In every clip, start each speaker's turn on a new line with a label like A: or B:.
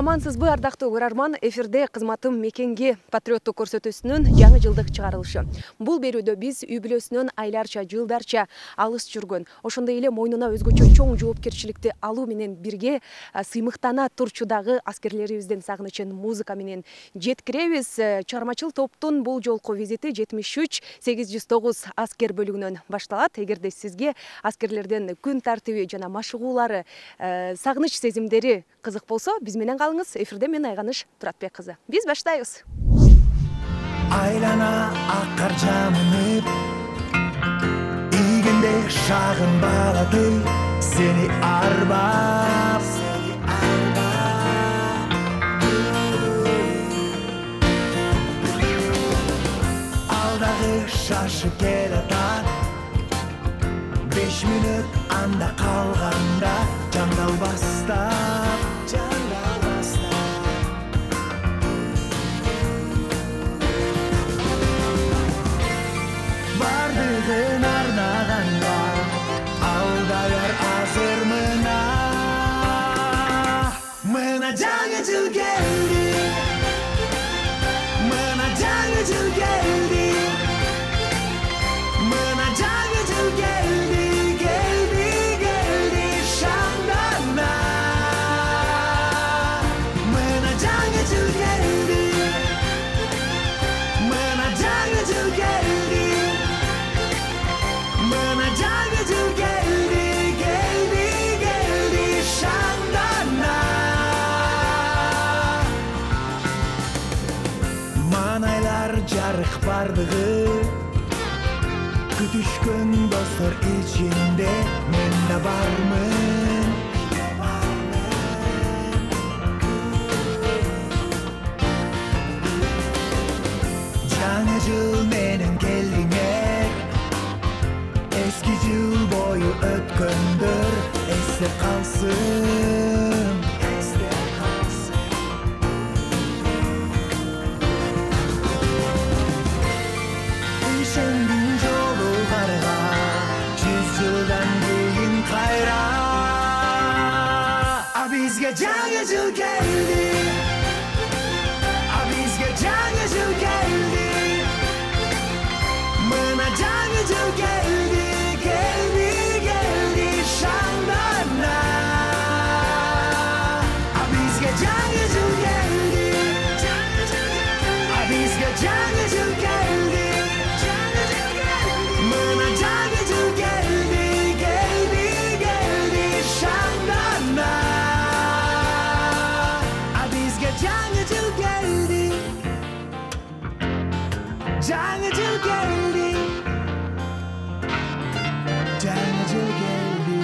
A: Амансызбы, ардактуу көрөрман, эфирде кызматым мекенге патриоттук көрсөтүүсүнүн жаңы жылдык чыгарылышы. Бул берүүдө биз үй бүлөсүнөн айларча, жылдарча алыс жүргөн, ошондой эле мойнуна өзгөчө чоң жоопкерчиликти алуу менен бирге сыймыктана турчудагы аскерлерибиздин сагынычын музыка менен жеткиребиз. Чыгармачыл топтун бул жолку визити 73-809 аскер бөлүгүнөн башталат. Эгерде сизге аскерлердин күн тартиби жана машыгуулары, сагыныч сезимдери кызык болсо, биз менен калыңыз. Эфирде мен Айганыш Туратбек кызы. Биз баштайбыз.
B: Айлана аккар жамынып, ийгенде шагын балады, сени арбап. Алдагы шашып келатат, 5 мүнөт анда калганда, жандалбастап. Бардыгын арнаганга, алдагар азыр мына жаңы жыл келди, мына жаңы жыл келди, мына жаңы жыл келди, келди, келди шамдана. Мына жаңы жыл келди, мына жаңы жыл келди, мына жаңы жыл келди, келди, келди шамдана. Манайлар жарык бардыгы, күтүшкөн достор ичинде мен да бармын. Жаңы жыл менен келдиңер, эски жыл бою өткөндөр эсте калсын, эсте калсын. Ишендиң жолугарга, 100 жылдан кийин кайра. А бизге жаңы жыл келди, а бизге жаңы жыл келди, мына жаңы жыл келди, келди, келди шамдана. А бизге жаңы жыл келди, а бизге жаңы жыл келди, мына жаңы жыл келди, келди, келди шамдана. А бизге жаңы жыл келди, жаңы жыл келди, жаңы жыл келди.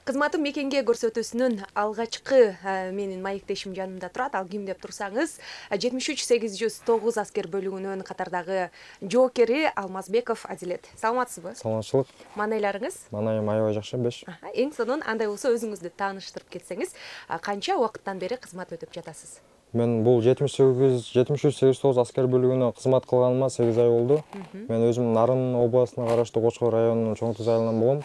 A: Кызматым мекенге көрсөтүүсүнүн алгачкы менин маектешим жанымда турат. Ал ким деп турсаңыз, 73-809 аскер бөлүгүнүн катардагы жоокери Алмазбеков Адилет. Саламатсызбы?
C: Саламатчылык.
A: Маанайларыңыз?
C: Маанайым аябай жакшы, 5.
A: Эң сонун андай болсо өзүңүздү тааныштырып кетсеңиз, канча убакыттан бери кызмат өтүп жатасыз?
C: Мен бул 73-809 аскер бөлүгүнө кызмат кылганыма 8 ай болду. Мен өзүм Нарын областына караштуу Кочкор районунун Чоң Туз айылынан болгом.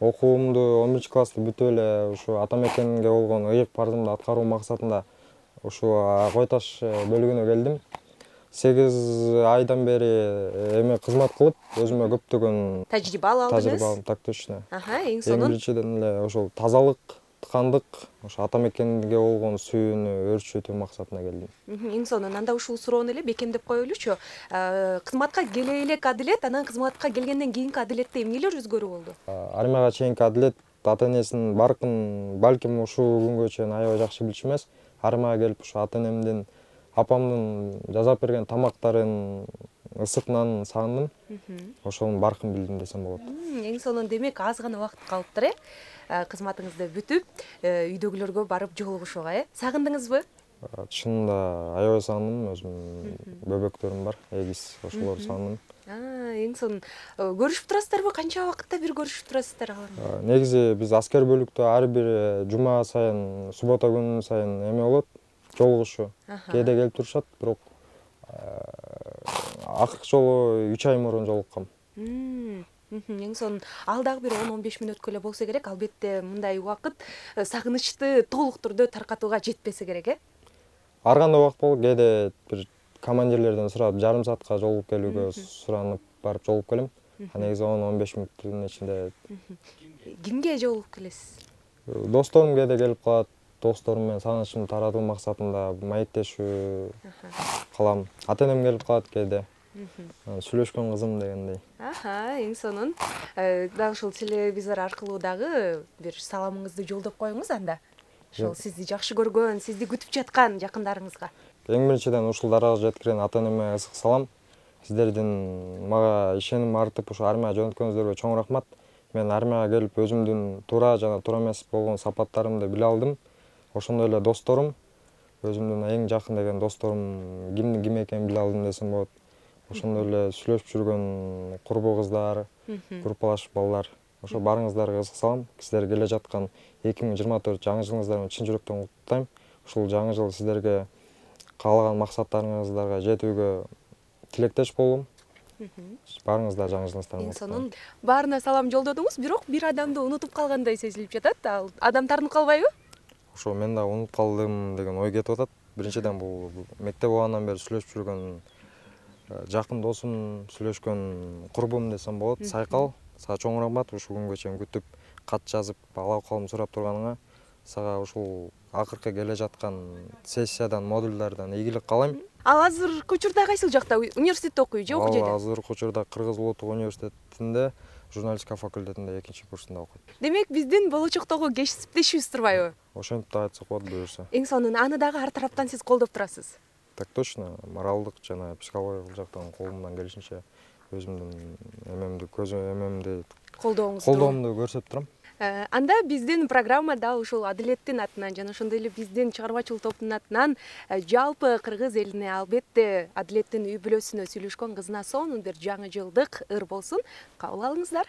C: Окуумду 11-классты бүтүп эле ушу ата мекенге болгон ыйык парызымды аткаруу максатында ушу Кой Таш бөлүгүнө келдим. 8 айдан бери эме кызмат кылып, өзүмө көптөгөн
A: Тажрыйба алдыңыз?
C: Тажрыйба алдым, так точно.
A: Эң
C: Эң
A: сонун.
C: биринчиден эле ошол тазалык, тыкандык, ошо ата мекенге болгон сүйүүнү өрчүтүү максатында келдим.
A: Эң сонун. Анда ушул суроону эле бекемдеп коелучу. Кызматка келе элек Адилет, анан кызматка келгенден кийинки Адилетте эмнелер өзгөрүү болду?
C: Армияга чейинки Адилет ата энесинин баркын балким ушул күнгө чейин аябай жакшы билчү эмес. Армияга келип ушу ата энемдин, апамдын жасап берген тамактарын, ысык нанын сагындым. Ошонун баркын билдим десем болот.
A: Эң сонун. Демек, аз гана убакыт калыптыр, кызматыңызды бүтүп, үйдөгүлөргө барып жолугушууга, Сагындыңызбы?
C: Чынында аябай сагындым, өзүм бөбөктөрүм бар, эгиз, ошолорду сагындым.
A: Эң сонун. Көрүшүп турасыздарбы? Канча убакытта бир көрүшүп турасыздар алар менен?
C: Негизи биз аскер бөлүктө ар бир жума сайын, суббота күнү сайын эме болот, жолугушуу. Кээде келип турушат, бирок акыркы жолу 3 ай мурун жолуккам.
A: Эң сонун ал дагы бир 10-15 мүнөткө эле болсо керек. Албетте мындай убакыт сагынычты толук түрдө таркатууга жетпесе керек,
C: Ар кандай убакыт болот. Кээде бир командирлерден сурап жарым саатка жолугуп келүүгө суранып барып жолугуп келем. Негизи 10-15 мүнөттүн ичинде.
A: Кимге жолугуп келесиз?
C: Досторум кээде келип калат. Досторум менен сагынычымды таратуу максатында маектешүү кылам. Ата-энем келип калат кээде. Сүйлөшкөн кызым дегендей.
A: Эң сонун. Дагы ушул телевизор аркылуу дагы бир саламыңызды жолдоп коюңуз анда. Ошол сизди жакшы көргөн, сизди күтүп жаткан жакындарыңызга.
C: Эң биринчиден ушул даражага жеткирген ата-энеме ысык салам. Сиздердин мага ишеним артып ушу армияга жөнөткөнүңүздөргө чоң рахмат. Мен армияга келип өзүмдүн туура жана туура эмес болгон сапаттарымды биле алдым. Ошондой эле досторум, өзүмдүн эң жакын деген досторум кимдин ким экенин биле алдым десем болот. Ошондой эле сүйлөшүп жүргөн курбу кыздар, группалаш балдар. Ошо барыңыздарга ысык салам. Сиздер келе жаткан 2024 жаңы жылыңыздарды чын жүрөктөн куттуктайм. Ушул жаңы жыл сиздерге каалаган максаттарыңыздарга жетүүгө тилектеш болом. Барыңыздар жаңы жылыңыздарга.
A: Эң сонун. Баарына салам жолдодуңуз, бирок бир адамды унутуп калгандай сезилип жатат. Ал адам тартынып калбайбы?
C: Ошо мен да унутуп калдым деген ой кетип атат. Биринчиден бул мектеп убагынан бери сүйлөшүп жүргөн жакын досум, сүйлөшкөн курбум десем болот. Сайкал, сага чоң рахмат ушул күнгө чейин күтүп, кат жазып, алал-калым сурап турганыңа. Сага ушул акыркы келе жаткан сессиядан, модульдардан ийгилик каалайм.
A: Ал азыркы учурда кайсыл жакта университетте окуйт же окуу жерде?
C: Азыркы учурда Кыргыз Улуттук университетинде журналистика факультетинде 2-курсунда окуйт.
A: Демек, биздин болочоктогу кесиптешибиз турбайбы?
C: Ошентип да айтсак болот буюрса.
A: Эң сонун. Аны дагы ар тараптан сиз колдоп турасыз.
C: Так точно, моралдык жана психологиялык жактан колумдан келишинче өзүмдүн эмемди колдоомду көрсөтүп турам.
A: Анда биздин программада ушул Адилеттин атынан жана ошондой эле биздин чыгармачылык топтун атынан жалпы кыргыз элине албетте Адилеттин үй бүлөсүнө сүйлөшкөн кызына сонун бир жаңы жылдык ыр болсун. Кабыл алыңыздар.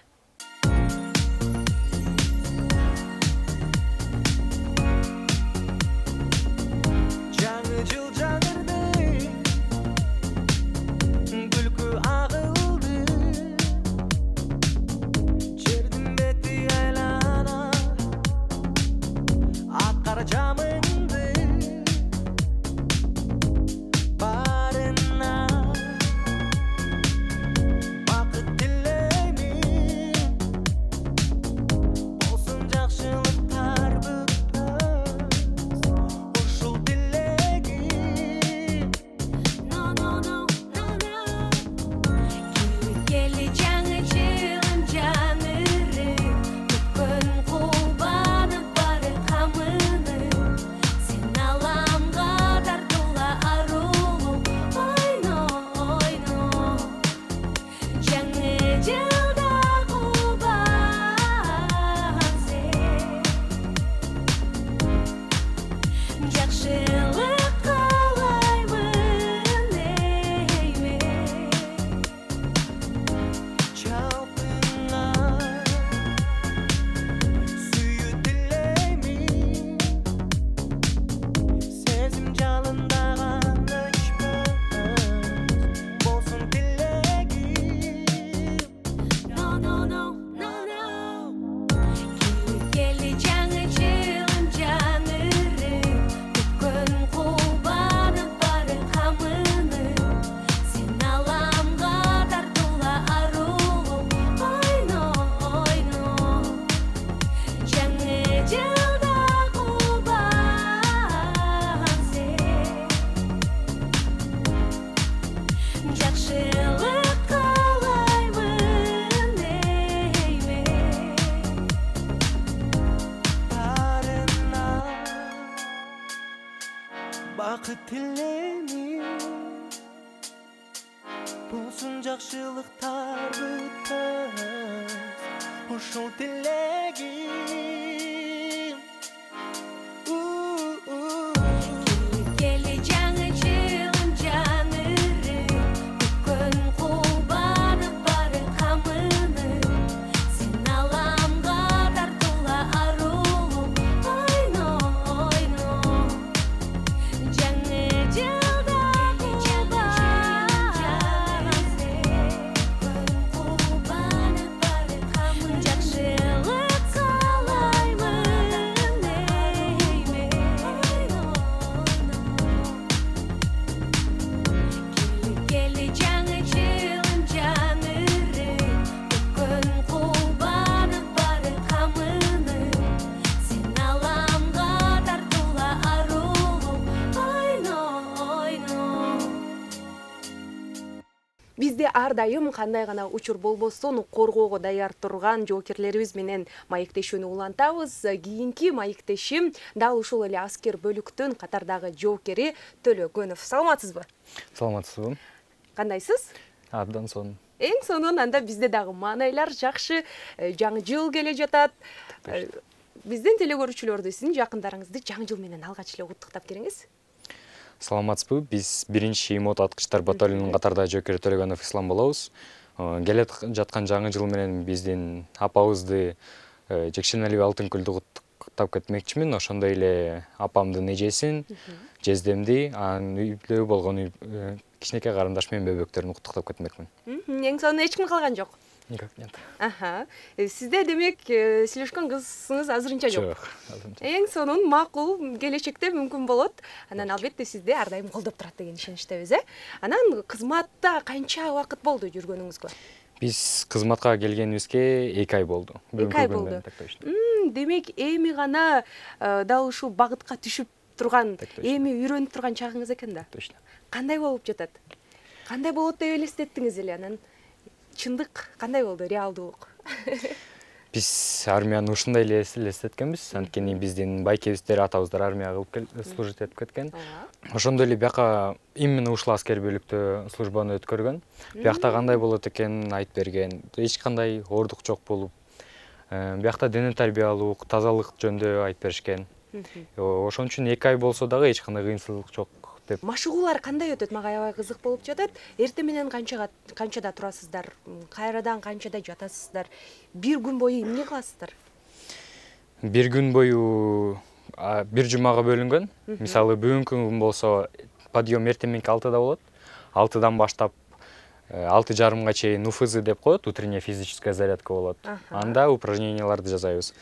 B: Жаңы жыл жаңырды, күлкү агылды, жердин бети айлана, ак кара жамынды, барына бакыт тилеймин, болсун жакшылыктар бүтпөс, ушул келе жаңы жылым жаңыры, күткөн кубанып бары камыны, сен аламга тартуула арулуу, ойно, жаңы жылда кубан сен, жакшылык каалаймын эйме, жалпыңа сүйүү тилеймин, сезим жалындаган өчпөс, болсун тилегим. Келе жаңы жылым жаңыры, күткөн кубанып бары камыны, сен аламга тартуула арулуу, ойно, жаңы жылда кубан сен, жакшылык каалаймын эйме, барына бакыт тилеймин, болсун жакшылыктар бүтпөс, ушул тилегим. Келе жаңы жылым жаңыры, күткөн кубанып бары камыны, сен аламга тартуула арулуу, ойно, жаңы жылда кубан сен, кубанып бары
A: Бизде ар дайым кандай гана учур болбосун коргоого даяр турган жоокерлерибиз менен маектешүүнү улантабыз. Кийинки маектешим дал ушул эле аскер бөлүктүн катардагы жоокери Төлөгөнов. Саламатсызбы?
D: Саламатсызбы?
A: Кандайсыз?
D: Абдан сонун.
A: Эң сонун анда бизде дагы маанайлар жакшы. Жаңы жыл келе жатат. Биздин телекөрүүчүлөрдү, сиздин жакындарыңызды жаңы жыл менен алгач эле куттуктап бериңиз.
D: Саламатсызбы? Биз 1-мот аткычтар батальонунун катардагы жоокери Төлөгөнов Ислам болобуз. Келе жаткан жаңы жыл менен биздин апабызды Жекшеналиев Алтынкүлдү куттуктап кетмекчимин. Ошондой эле апамдын эжесин, жездемди, анын үйдө болгон кичинекей карындаш менен бөбөктөрүн куттуктап кетмекмин.
A: Эң сонун эч ким калган жок.
D: Нет.
A: Сизде демек сүйлөшкөн кызыңыз азырынча жок.
D: Жок.
A: Эң сонун, макул, келечекте мүмкүн болот. Анан албетте сизди ар дайым колдоп турат деген ишеничтебиз, Анан кызматта канча убакыт болду жүргөнүңүзгө?
D: Биз кызматка келгенибизге 2 ай болду.
A: 2 ай болду. Демек эми гана дал ушул багытка түшүп турган, эми үйрөнүп турган чагыңыз экен да.
D: Точно.
A: Кандай болуп жатат? Кандай болот деп элестеттиңиз эле? Анан чындык кандай болду, реалдуулук?
D: Биз армияны ушундай эле элестеткенбиз. Анткени биздин байкебиздер, атабыздар армияга служить этип кеткен. Ошондой эле бияка именно ушул аскер бөлүктө службаны өткөргөн. Биякта кандай болот экенин айтып берген. Эч кандай оордук жок болуп, биякта дене тарбиялуулук, тазалык жөнүндө айтып беришкен. Ошон үчүн 2 ай болсо дагы эч кандай кыйынчылык жок деп.
A: Машыгуулар кандай өтөт? Мага аябай кызык болуп жатат. Эртең менен канчада турасыздар? Кайрадан канчада жатасыздар? Бир күн бою эмне кыласыздар?
D: Бир күн бою бир жумага бөлүнгөн. Мисалы, бүгүнкү күн болсо подъем эртең мененки 6-да болот. 6-дан баштап 6:30 чейин УФЗ деп коет, утренняя физическая зарядка болот. Анда упражненияларды жасайбыз.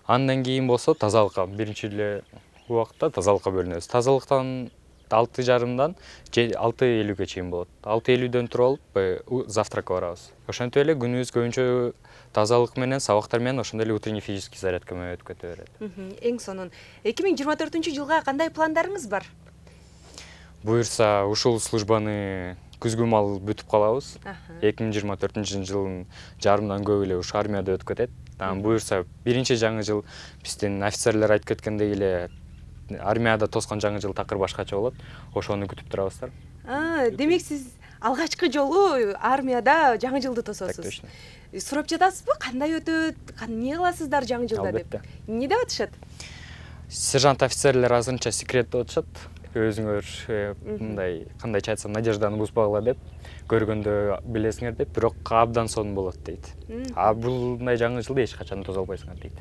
D: Андан кийин болсо тазалыкка, биринчи эле убакытта тазалыкка бөлүнөбүз. Тазалыктан 6:30-дан 6:50-ге чейин болот. 6:50-дөн туруп алып завтракка барабыз. Ошентип эле күнүбүз көбүнчө тазалык менен, сабактар менен, ошондой эле утренний физический зарядка менен өтүп кете берет.
A: Эң сонун. 2024-жылга кандай пландарыңыз бар?
D: Буюрса, ушул службаны күзгү мал бүтүп калабыз. 2024-жылдын жарымынан көп эле ушу армияда өтүп кетет. Буюрса, биринчи жаңы жыл биздин офицерлер айтып кеткендей эле армияда тоскон жаңы жыл такыр башкача болот. Ошону күтүп турабыздар.
A: Демек сиз алгачкы жолу армияда жаңы жылды тососуз. Сурап жатасызбы, кандай өтөт, эмне кыласыздар жаңы жылда деп? Эмне деп атышат?
D: Сержант офицерлер азырынча секрет деп атышат. Өзүңөр мындай, кандайча айтсам, надежданы бузбагыла деп, көргөндө билесиңер деп, бирок абдан сонун болот дейт. Булдай жаңы жылды эч качан тозо албайсыңар дейт.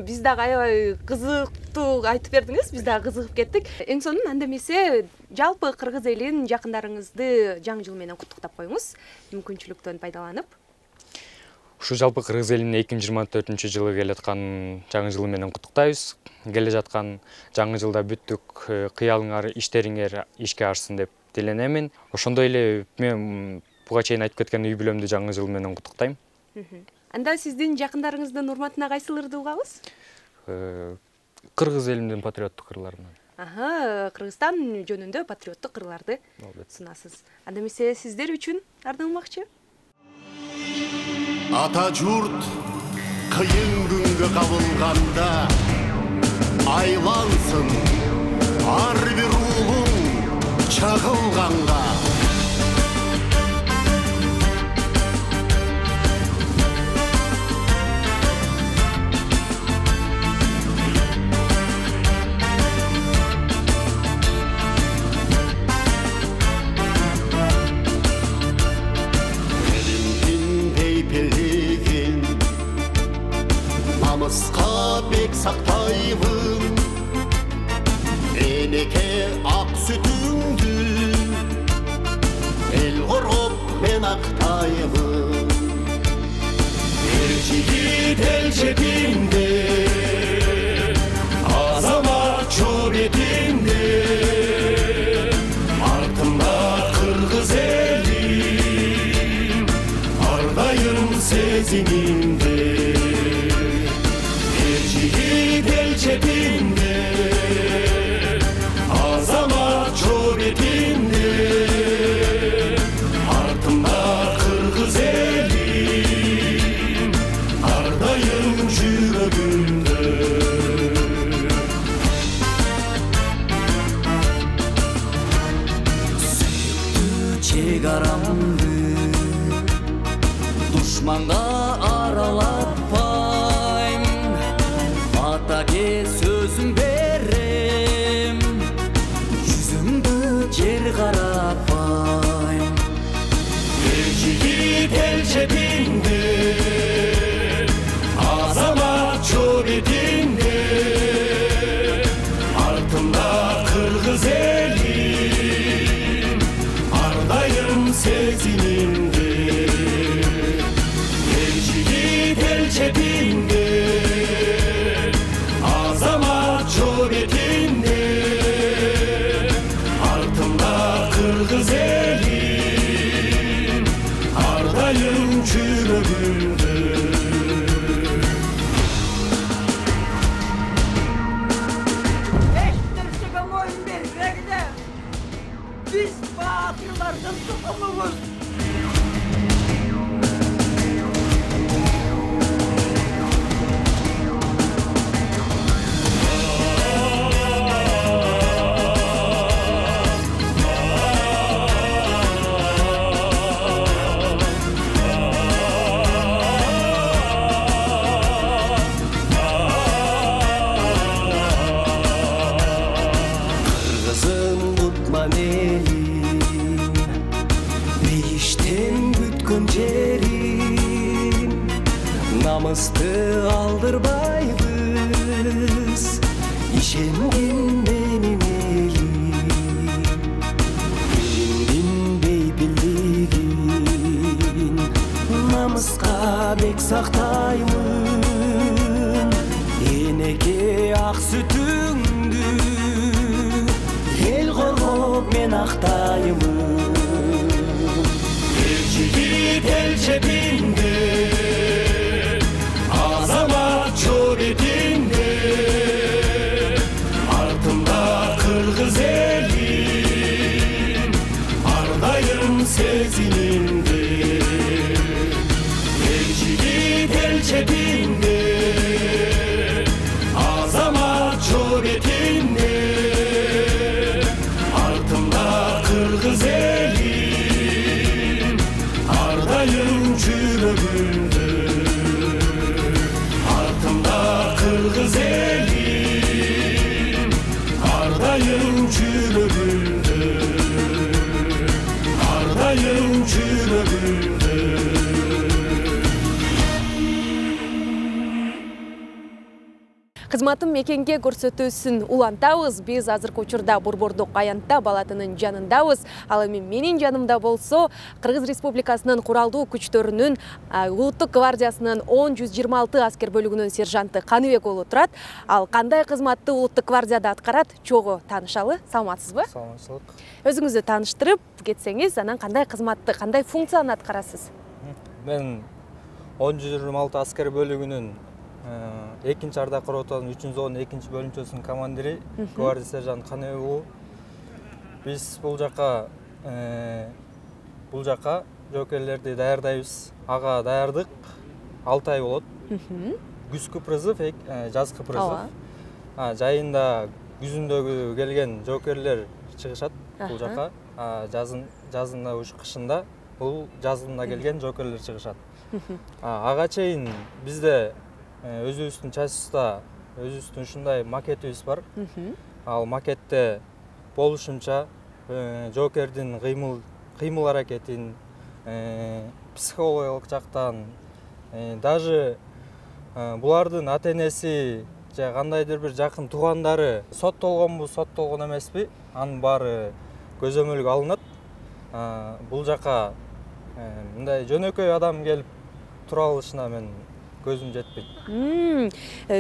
A: Биз дагы аябай кызыктуу айтып бердиңиз, биз дагы кызыгып кеттик. Эң сонун, анда эмесе жалпы кыргыз элин, жакындарыңызды жаңы жыл менен куттуктап коюңуз, мүмкүнчүлүктөн пайдаланып.
D: Ушу жалпы кыргыз элин 2024-жылы келе жаткан жаңы жыл менен куттуктайбыз. Келе жаткан жаңы жылда бүттүк кыялыңар, иштериңер ишке ашсын деп тиленемин. Ошондой эле мен буга чейин айтып кеткен үй бүлөмдү жаңы жыл менен куттуктайм.
A: Анда сиздин жакындарыңыздын урматына кайсыл ырды угабыз?
D: Кыргыз элимдин патриоттук ырларынан.
A: Кыргызстан жөнүндө патриоттук ырларды сунасыз. Анда эмесе сиздер үчүн ардыңмакчы.
E: Ата журт кыйын күнгө кабылганда айлансын ар бир улуң чагылганга. Намыска бек сактайбын, энеке ак сүтүңдү, эл коргоп мен актайбын. Эл жигит эл четинде, азамат жол бетинде, артымда кыргыз элим, ар дайым сезимимде. Çetinde, azamat ço betinde,
B: чек арамды душманга аралатпайм атаке сөзүм берем жүзүңдү жер каратпайм
E: эл жигит эл чебинде азамат чобетинде артымда кыргыз элим ардайым сезимимде эл жигит эл чебинде азамат чобетинде артымда кыргыз элим ардайым жүрөгүмдө
F: Eşitleştirge moyun bergide biz batırlardan tutumumuz.
B: Kırgızım tutman elim Beyişten bütkün jerim Namısты aldırbayбыз İşenген benim elim Elingin beybilligin Namыска бек сактаймын Энеке ак сүтүңдү Эл коргоп мен актаймын
E: эл жигит эл чебинде азамат чобетинде артымда кыргыз элим ардайым сезимимде эл жигит эл чебинде азамат чобетинде артымда кыргыз элим ардайым жүрөгүмдө артымда кыргыз элим ардайым жүрөгүмдө ардайым жүрөгүмдө
A: Кызматым мекенге көрсөтүүсүн улантабыз. Биз азыркы учурда Борбордук аянтта балатынын жанындабыз. Ал эми менин жанымда болсо Кыргыз Республикасынын куралдуу күчтөрүнүн Улуттук гвардиясынын 10-126 аскер бөлүгүнүн сержанты Каныбек уулу турат. Ал кандай кызматты Улуттук гвардияда аткарат? Чогуу таанышалы. Саламатсызбы?
C: Саламатчылык.
A: Өзүңүздү тааныштырып кетсеңиз, анан кандай кызматты, кандай функцияны аткарасыз?
G: Мен 10-126 аскер бөлүгүнүн 2-ардак ротанын 3-зонун 2 бөлүнчөсүнүн командири гвардия сержант Каныбек уулу. Биз бул жака жоокерлерди даярдайбыз. Ага даярдык 6 ай болот. Күзгү призыв, жазгы призыв. Жайында күзүндөгү келген жоокерлер чыгышат бул жака. Жазында ушу кышында бул жазында келген жоокерлер чыгышат. Ага чейин бизде өзүбүздүн частьта өзүбүздүн ушундай макетибиз бар. Ал макетте болушунча жоокердин кыймыл аракетин, психологиялык жактан, даже булардын ата-энеси же кандайдыр бир жакын туугандары соттолгонбу, соттолгон эмеспи, анын баары көзөмөлгө алынат. Бул жака мындай жөнөкөй адам келип тура алышына мен көзүм жетпейт.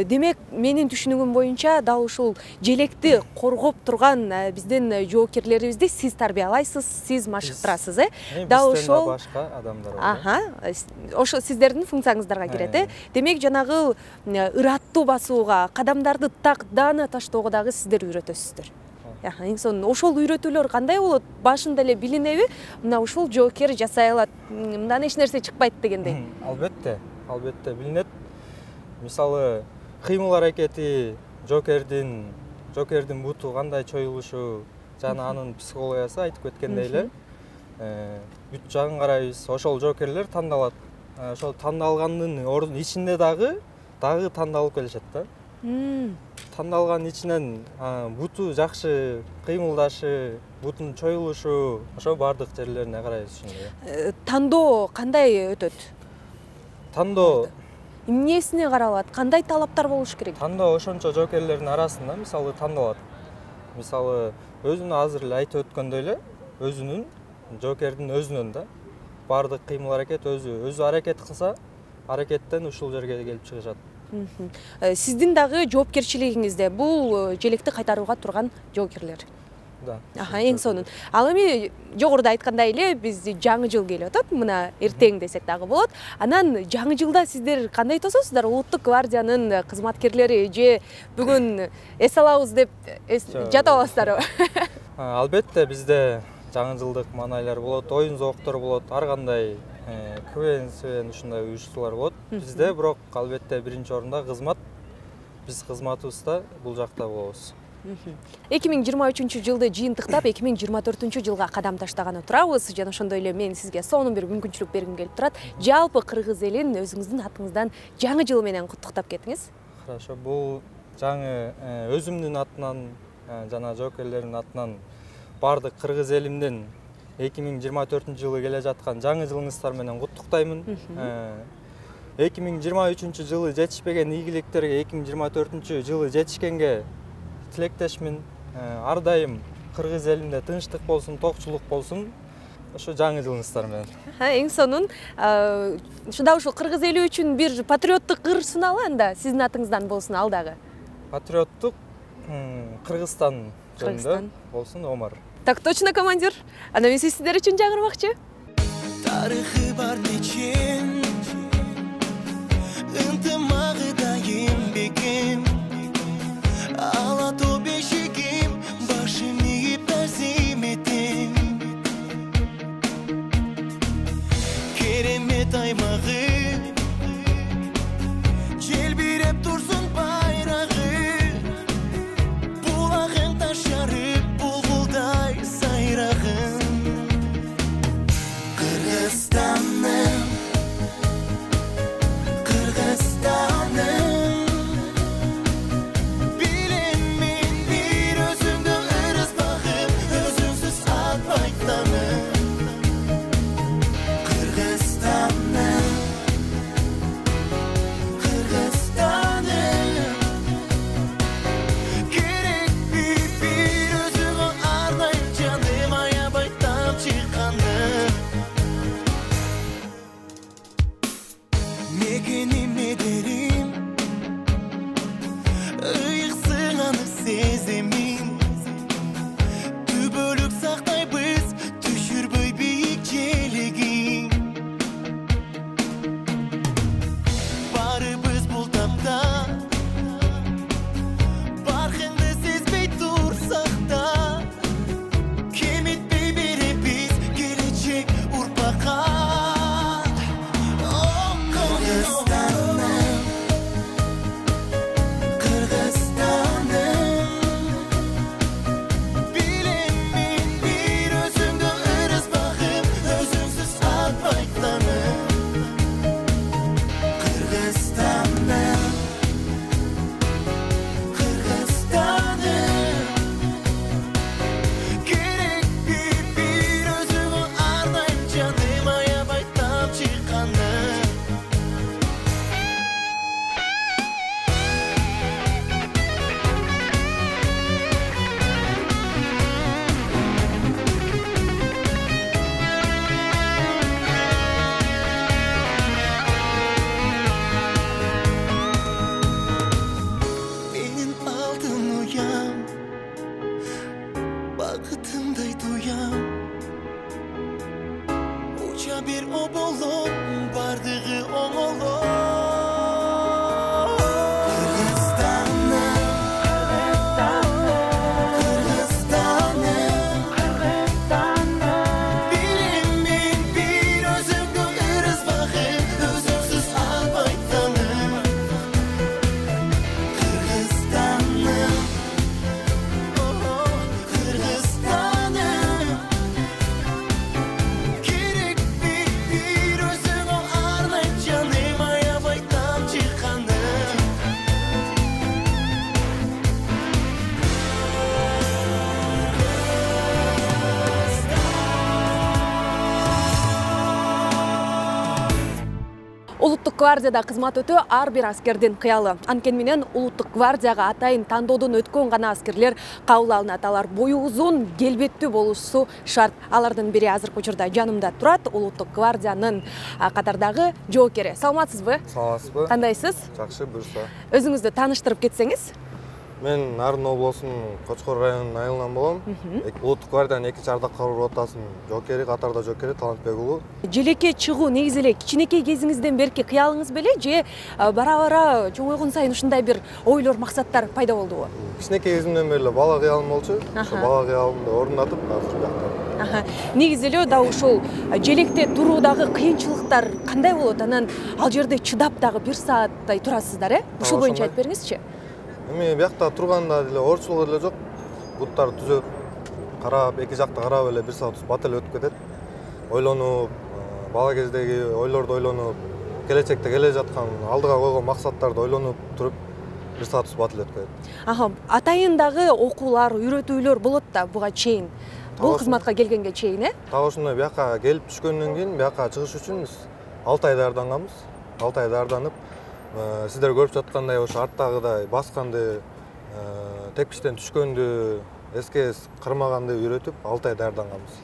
A: Демек, менин түшүнүгүм боюнча дал ушул желекти коргоп турган биздин жоокерлерибизди сиз тарбиялайсыз, сиз машыктырасыз, Дал ошол
G: башка адамдар бар.
A: Ошо сиздердин функцияңыздарга кирет, Демек, жанагы ыраттуу басууга, кадамдарды так даана таштоого дагы сиздер үйрөтөсүздөр. Эң сонун ошол үйрөтүүлөр кандай болот? Башында эле билинеби? Мына ушул жоокер жасай алат, мындан эч нерсе чыкпайт дегендей.
G: Албетте билинет. Мисалы, кыймыл аракети жоокердин буту кандай чоюлушу, жана анын психологиясы айтып кеткендей эле. бүт жагын карайбыз. Ошол жокерлер тандалат. Ошол тандалгандын ичинде дагы тандалып келишет да. Тандалган ичинен буту жакшы кыймылдашы, бутун чоюлушу, ошо бардык жерлерине карайбыз ушундай.
A: Тандоо кандай өтөт?
G: Тандоо
A: Эмнесине каралат? Кандай талаптар болуш керек?
G: Тандоо ошончо жокерлердин арасында мисалы тандалат. Мисалы өзүнүн азыр эле айтып өткөндөй эле өзүнүн жокердин өзүнөн да бардык кыймыл аракет өзү аракет кылса, аракеттен ушул жерге келип чыгышат.
A: Сиздин дагы жоопкерчилигиңизде бул желекти кайтарууга турган жокерлер.
G: Да.
A: Эң сонун. Ал эми жогоруда айткандай эле бизди жаңы жыл келип атат. Мына эртең десек дагы болот. Анан жаңы жылда сиздер кандай тососуздар? Улуттук гвардиянын кызматкерлери же бүгүн эс алабыз деп жатып аласыздарбы?
G: Албетте бизде жаңы жылдык маанайлар болот, оюн зооктор болот, ар кандай КВН ушундай уюштуулар болот. Бизде бирок албетте биринчи орунда кызмат. Биз кызматыбызда бул жакта болобуз.
A: 2023 жылды жыйынтыктап 2024 жылга кадам таштаганы турабыз жана ошондой эле мен сизге сонун бир мүмкүнчүлүк бергим келип турат. Жалпы кыргыз элин өзүңүздүн атыңыздан жаңы жыл менен куттуктап кетиңиз.
G: Хорошо, бул жаңы өзүмдүн атынан жана жокерлердин атынан бардык кыргыз элимдин 2024 жылы келе жаткан жаңы жылыңыздар менен куттуктаймын. 2023 жылы жетишпеген ийгиликтерге 2024 жылы жетишкенге тилектешмин. Ар дайым кыргыз элимде тынчтык болсун, токчулук болсун. Ошо жаңы жылыңыздар менен.
A: Эң сонун. Ушунда ушул кыргыз эли үчүн бир патриоттук ыр суналы анда сиздин атыңыздан болсун ал дагы.
G: Патриоттук Кыргызстан жөнүндө болсун, Омар.
A: Так точно, командир. Анда мен сиздер үчүн жаңырмакчы.
B: Тарыхы бар нечен, ынтымагы дайым бекем, ала тоо бешигим, башым ийип тасим этем. Керемет аймагы, желбиреп турсун байрагы, булагын ташарып булбулдай сайрагын. Кыргызстаным, Кыргызстаным, билем мен бир өзүңдө ырыс багып, өзүңсүз атпай таным. Кыргызстаным, Кыргызстаным, керек бир өзүңө арнайым жаным, аябай тамчы каным. Мекеним медерим, ыйыксың аны сеземин, түбөлүк сактайбыз, түшүрбөй бийик желегин. Барыбыз бул тапта, баркыңды сезбей турсак да, кемитпей беребиз келечек урпакка. Кыргызстаным, Кыргызстаным, билем мен бир өзүңдө ырыс багып, өзүңсүз атпай таным. Кыргызстаным, Кыргызстаным, керек бир өзүңө арнайым жаным, аябай тамчы каным. Менин алтын уям, бакытымдай туям, уча бир оболом, бардыгы оңолом. Кыргызстаным, Кыргызстаным, билем мен бир өзүңдө ырыс багып, өзүңсүз албай таным. Кыргызстаным, Кыргызстаным,
A: гвардияда кызмат өтөө ар бир аскердин кыялы. Анткени менен улуттук гвардияга атайын тандоодон өткөн гана аскерлер кабыл алынат. Алар бою узун, келбеттүү болушу шарт. Алардын бири азыркы учурда жанымда турат. Улуттук гвардиянын катардагы жоокери. Саламатсызбы?
H: Саламатсызбы?
A: Кандайсыз?
H: Жакшы, буюрса.
A: Өзүңүздү тааныштырып кетсеңиз.
H: Мен Нарын облусунун Кочкор районунун айылынан болом. Улуттук гвардиянын 2-ардак кароо ротасынын жоокери, катарда жоокери Талантбек уулу.
A: Желекке чыгуу негизи эле кичинекей кезиңизден берки кыялыңыз беле же бара-бара чоңойгон сайын ушундай бир ойлор, максаттар пайда болдубу?
H: Кичинекей кезимден бери эле бала кыялым болчу. Ошо бала кыялымды орундатып, азыр бuyакта.
A: Негизи эле дагы ушул желекте туруудагы кыйынчылыктар кандай болот? Анан ал жерде чыдап дагы 1 сааттай турасыздар, э? Ушул боюнча айтып бериңизчи.
H: Эми буякта турганда деле оорчулук эле жок. Буттар түзөп, карап, эки жакта карап эле 1 саат бат эле өтүп кетет. Ойлонуп, бала кездеги ойлорду ойлонуп, келечекте келе жаткан алдыга койгон максаттарды ойлонуп туруп 1 саат бат эле өтүп кетет.
A: Атайын дагы окуулар, үйрөтүүлөр болот да буга чейин. Бул кызматка келгенге чейин, э?
H: Так ошондой буяка келип түшкөндөн кийин буяка чыгыш үчүн биз 6 ай даярданганбыз. 6 ай даярданып, сиздер көрүп жаткандай ошо арттагыдай басканды, тепкичтен түшкөндү, эскес кырмаганды үйрөтүп 6 ай даярданганбыз.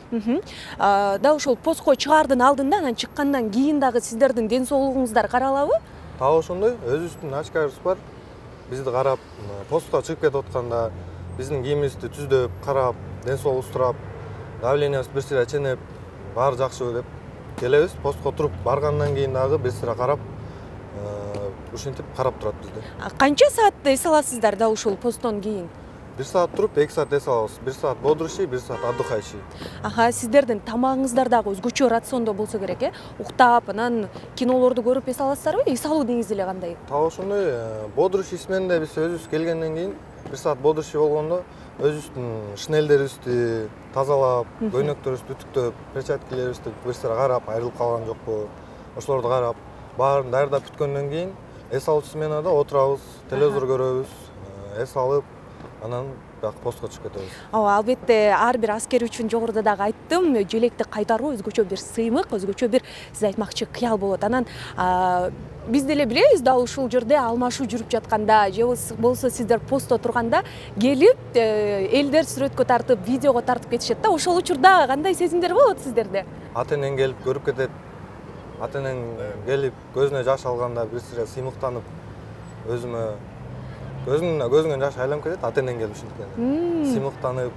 A: Да ошол постко чыгаардын алдында, анан чыккандан кийин дагы сиздердин ден соолугуңуздар каралабы?
H: Так ошондой, өзүбүздүн очкарыбыз бар. Бизди карап, постко чыгып кетип атканда биздин кийимибизди түздөп, карап, ден соолугубузду сурап, давлениябыз бир сыйра ченеп, баары жакшыбы деп келебиз. Постко туруп баргандан кийин дагы бир сыйра карап, ушинтип карап турат бизди.
A: Канча саат эс аласыздар да ушул посттон кийин?
H: 1 саат туруп, 2 саат эс алабыз. 1 саат бодрущий, 1 саат отдыхающий.
A: Сиздердин тамагыңыздар дагы өзгөчө рациондо болсо керек, э? Уктап, анан кинолорду көрүп эс аласыздарбы? Эс алуу негизи эле кандай?
H: Так ошондой, бодрущий сменде биз өзүбүз келгенден кийин 1 саат бодрущий болгондо өзүбүздүн шинелдерибизди тазалап, көйнөктөрүбүздү үтүктөп, перчаткаларыбызды бир сыйра карап, айрылып калган жокпу, ошолорду карап, баарын даярдап бүткөндөн кийин эс алуучу сменада отурабыз, телевизор көрөбүз, эс алып, анан бияк постко чыгып кетебиз.
A: Албетте, ар бир аскер үчүн жогоруда дагы айттым, желекти кайтаруу өзгөчө бир сыймык, өзгөчө бир сиз айтмакчы кыял болот. Анан биз деле билебиз да ушул жерде алмашуу жүрүп жатканда же болбосо сиздер постто турганда келип элдер сүрөткө тартып, видеого тартып кетишет да. Ошол учурда кандай сезимдер болот сиздерде?
H: Ата-энең келип көрүп кетет. Ата-энең келип көзүнө жаш алганда бир сыйра сыймыктанып, көзүңөн жаш айланып кетет, ата-энең келип ушинткени. Сыймыктанып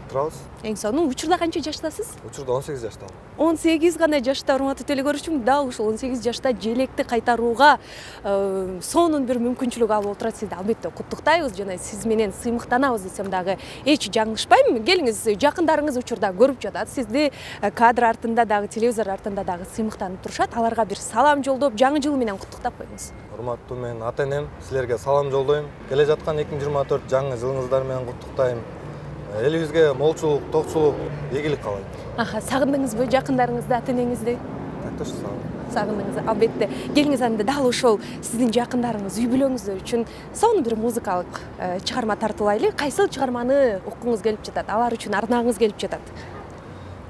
H: турабыз.
A: Эң сонун учурда канча жаштасыз?
H: Учурда 18 жаштамын.
A: 18 гана жашта, урматтуу телекөрүүчүм, да ушул 18 жашта желекти кайтарууга сонун бир мүмкүнчүлүк алып отурат. Сизди албетте куттуктайбыз жана сиз менен сыймыктанабыз десем дагы эч жаңылышпайм. Келиңиз, жакындарыңыз учурда көрүп жатат. Сизди кадр артында дагы, телевизор артында дагы сыймыктанып турушат. Аларга бир салам жолдоп, жаңы жыл менен куттуктап коюңуз.
H: Урматтуу мен ата-энем, силерге салам жолдойм. Келе жаткан 2024 жаңы жылыңыздар менен куттуктайм. Элибизге молчулук, токчулук, ийгилик каалайм.
A: Сагындыңызбы жакындарыңызды, ата-энеңизди?
H: Так точно
A: сагындыңыз. Албетте. Келиңиз анда дал ошол сиздин жакындарыңыз, үй бүлөңүздөр үчүн сонун бир музыкалык чыгарма тартуулайлы. Кайсыл чыгарманы уккуңуз келип жатат? Алар үчүн ардагыңыз келип жатат?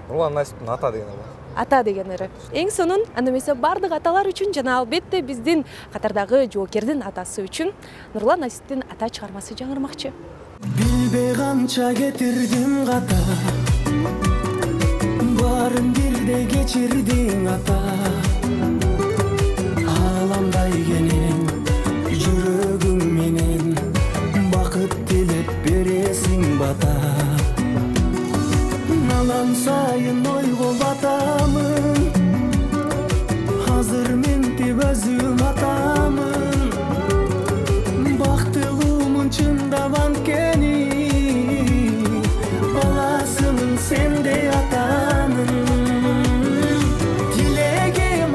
H: Нурлан Насиптин Ата деген ыры.
A: Ата деген ыры. Эң сонун, анда эмесе бардык аталар үчүн жана албетте биздин катардагы жоокердин атасы үчүн Нурлан Насиптин Ата чыгармасы жаңырмакчы.
B: Билбей канча кетирдим ката, баарын бирдей кечирдиң ата. Аламдай кенен жүрөгүң менен бакыт тилеп бересиң бата. Налам сайын ойго батамын, азыр ментип өзүм атамын. Бактылуумун чындап анткени, баласымын сендей атанын. Тилегим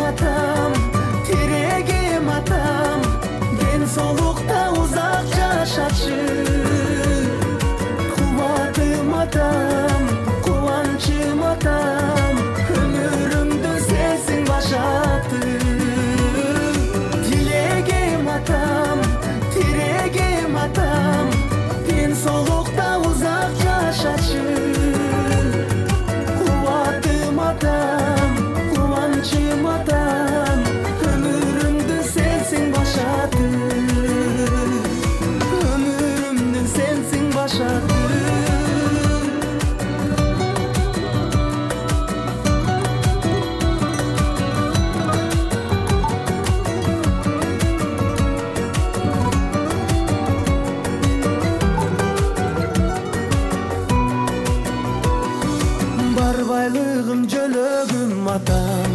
B: атам,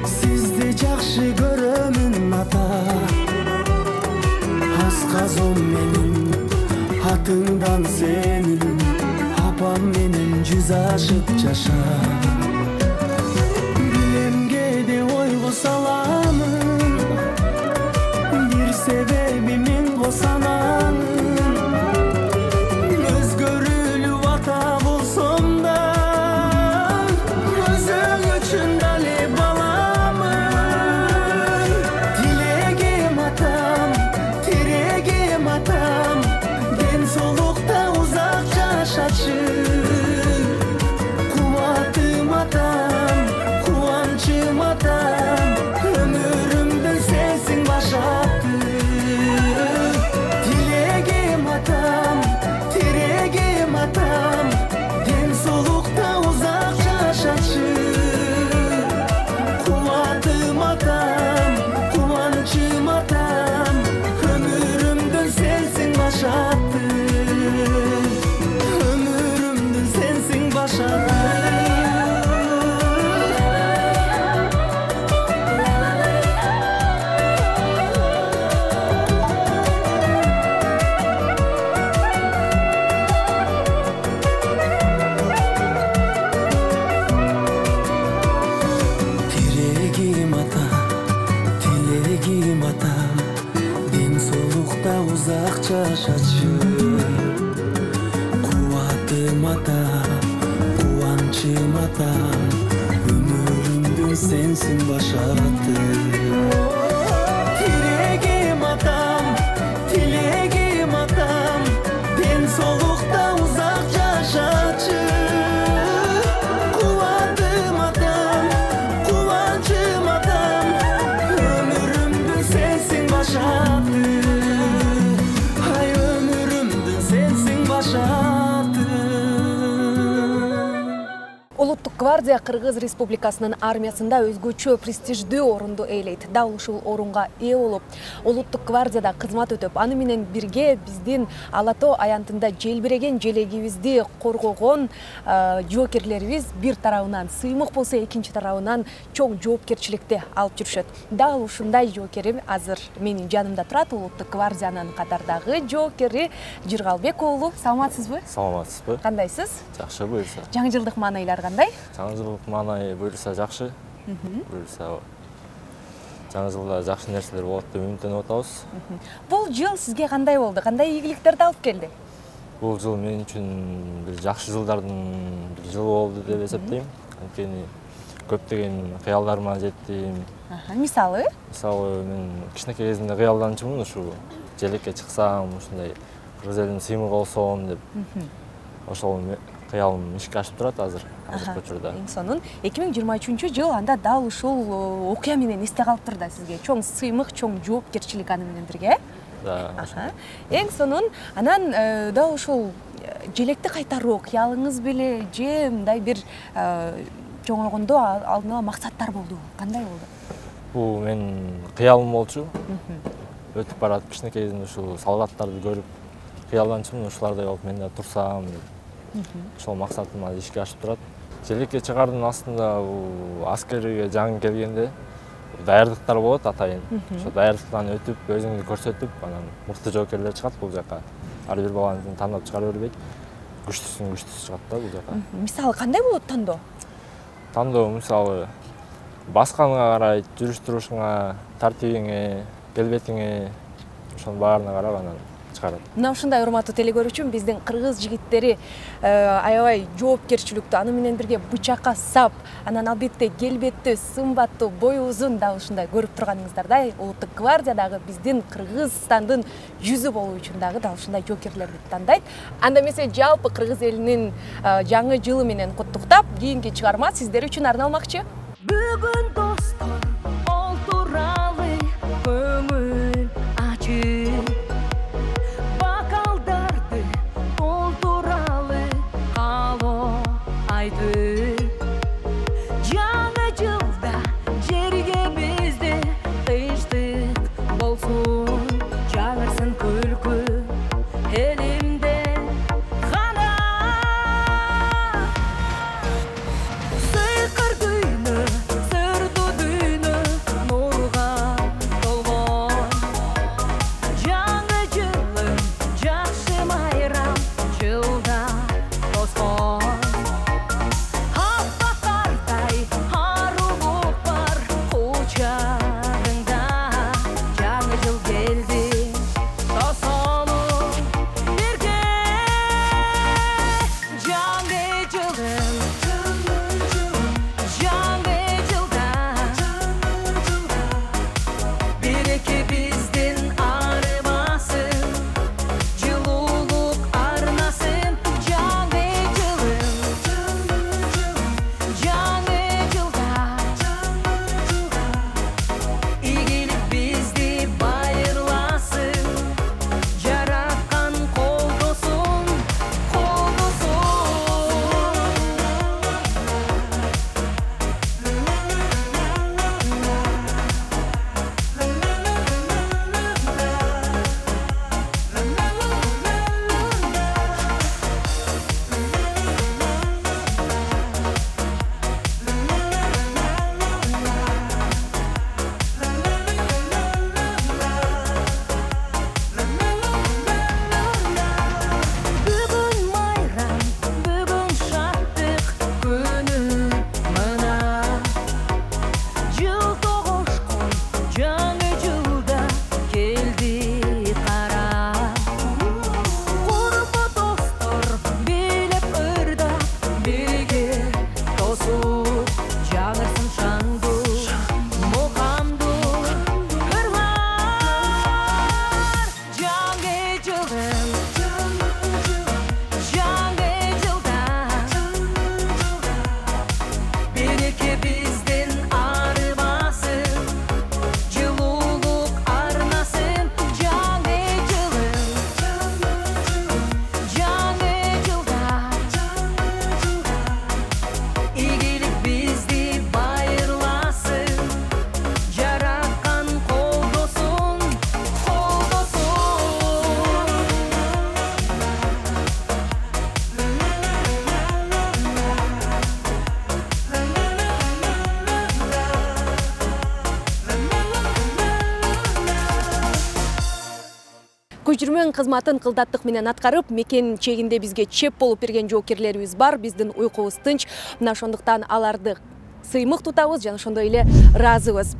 B: сизди жакшы көрөмүн ата. Асказом менин атыңдан сенин, апам менен жүз ашып жаша. Билемге ойго саламын, бир себеби мен косанамын. Өзгөрүлүп ата болсом да, өзүң үчүн дале баламын. Тилегим атам, тирегим атам, ден соолукта узак жашачы. Кубатым атам, кубанчым атам, өмүрүмдү сенсиң башаттı. Тилегим атам, тирегим атам, ден соолукта узак жашачы. Кубатым атам, кубанчым атам, өмүрүмдү сенсиң башаттı. Өмүрүмдү сенсиң башаттı. Тирегим ата, тилегим атам, ден соолукта узак жашачы. Кубатым атам, кубанчым атам, өмүрүмдү сенсиң башаттı. Тирегим атам, тилегим атам, ден соолукта узак жашачы. Кубатым атам, кубанчым атам, өмүрүмдү сенсиң башаттı. Ай, өмүрүмдү сенсиң башаттı.
A: Улуттук гвардия Кыргыз Республикасынын армиясында өзгөчө престиждүү орунду ээлейт. Дал ушул орунга ээ болуп, улуттук гвардияда кызмат өтөп, аны менен бирге биздин Ала Тоо аянтында желбиреген желегибизди коргогон жоокерлерибиз бир тарабынан сыймык болсо, экинчи тарабынан чоң жоопкерчиликти алып жүрүшөт. Дал ушундай жоокерим азыр менин жанымда турат. Улуттук гвардиянын катардагы жоокери Жыргалбек уулу. Саламатсызбы?
I: Саламатсызбы?
A: Кандайсыз?
I: Жакшы, буюрса.
A: Жаңы жылдык маанайлар кандай?
I: Жаңы жылдык маанай буюрса жакшы. Буюрса жаңы жылда жакшы нерселер болот деп үмүттөнүп атабыз.
A: Бул жыл сизге кандай болду? Кандай ийгиликтерди алып келди?
I: Бул жыл мен үчүн бир жакшы жылдардын бир жылы болду деп эсептейм. Анткени көптөгөн кыялдарыма жеттим.
A: Мисалы?
I: Мисалы, мен кичинекей кезимде кыялданчумун, ушу желекке чыксам, ушундай кыргыз элинин сыймыгы болсом деп. Ошол кыялым ишке ашып турат азыркы учурда.
A: Эң сонун 2023-жыл анда дал ушул окуя менен эсте калыптыр да сизге. Чоң сыймык, чоң жоопкерчилик аны менен бирге.
I: Да.
A: Эң сонун анан дал ушул желекти кайтаруу кыялыңыз беле же мындай бир чоңойгондо алдын ала максаттар болду? Кандай болду?
I: Бул менин кыялым болчу. Өтүп баратып кичинекей кезимде ушул солдаттарды көрүп кыялданчумун, ушулардай болуп мен да турсам деп. Ошол максатым азыр ишке ашып турат. Желекке чыгаардын астында аскерге жаңы келгенде даярдыктар болот атайын. Ошол даярдыктан өтүп, өзүңдү көрсөтүп, анан мыкты жоокерлер чыгат бул жака. Ар бир баланы тандап чыгара бербейт. Күчтүүсү чыгат да бул жака.
A: Мисалы кандай болот тандоо?
I: Тандоо мисалы басканыңа карайт, жүрүш турушуңа, тартибиңе, келбетиңе, ошонун баарына карап анан чыгарат.
A: Мына ушундай урматтуу телекөрүүчүм, биздин кыргыз жигиттери аябай жоопкерчиликтүү, аны менен бирге бычакка сап, анан албетте келбеттүү, сымбаттуу, бою узун да ушундай көрүп турганыңыздардай улуттук гвардиядагы биздин Кыргызстандын жүзү болуу үчүн дагы дал ушундай жоокерлерди тандайт. Анда эмесе жалпы кыргыз элинин жаңы жылы менен куттуктап, кийинки чыгарма сиздер үчүн арналмакчы.
B: Бүгүн достор олтуралы, көңүл ачып, бакалдарды толтуралы, каалоо айтып. Жаңы жылда жерге бизде тынчтык болсун, жагырсын күлкү элимде гана. Сыйкы
A: көчүрмөн кызматын кылдаттык менен аткарып, мекен чегинде бизге чеп болуп берген жоокерлерибиз бар. Биздин уйкубуз тынч. Мына ошондуктан аларды сыймык тутабыз жана ошондой эле ыраазыбыз.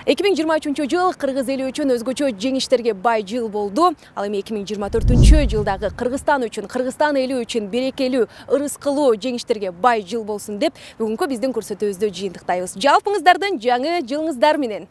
A: 2023 жыл кыргыз эли үчүн өзгөчө жеңиштерге бай жыл болду. Ал эми 2024 жылдагы Кыргызстан үчүн, Кыргызстан эли үчүн берекелүү, ырыскылуу жеңиштерге бай жыл болсун деп бүгүнкү биздин көрсөтүүбүздү жыйынтыктайбыз. Жалпыңыздардын жаңы жылыңыздар менен.